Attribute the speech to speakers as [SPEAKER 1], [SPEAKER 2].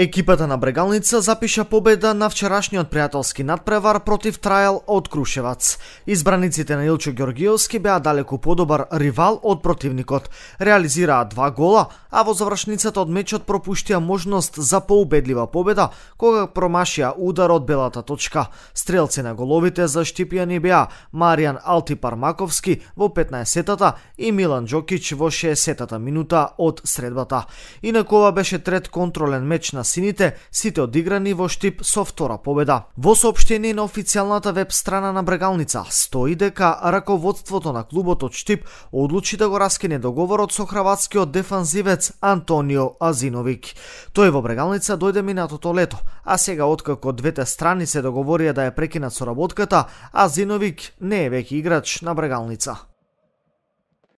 [SPEAKER 1] Екипата на Брегалница запиша победа на вчерашниот пријателски надпревар против Трајал од Крушевац. Избраниците на Илчо Ѓоргиевски беа далеку подобар ривал од противникот. Реализираа 2 гола, а во завршницата од мечот пропуштија можност за поубедлива победа кога промашија удар од белата точка. Стрелци на головите за Штипјани беа Маријан Алтипар-Маковски во 15-тата и Милан Џокич во 60-та минута од средбата. Инаку ова беше трет контролен меч на сините, сите одиграни во Штип со втора победа. Во соопштение на официјалната веб страна на Брегалница стои дека раководството на клубот од Штип одлучи да го раскине договорот со хрватскиот дефанзивец Антонио Азиновик. Тој во Брегалница дојде минатото лето, а сега откако двете страни се договорија да ја прекинат соработката, Азиновик не е веќе играч на Брегалница.